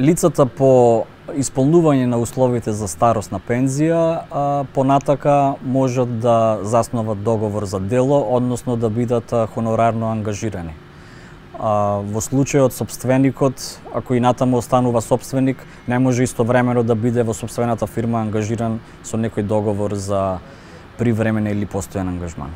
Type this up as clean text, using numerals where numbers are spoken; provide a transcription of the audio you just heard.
Лицата по исполнување на условите за старосна пензија понатака можат да заснуват договор за дело, односно да бидат хонорарно ангажирани. Во случајот сопственикот, ако и натаму останува сопственик, не може истовремено да биде во сопствената фирма ангажиран со некој договор за привремен или постојан ангажман.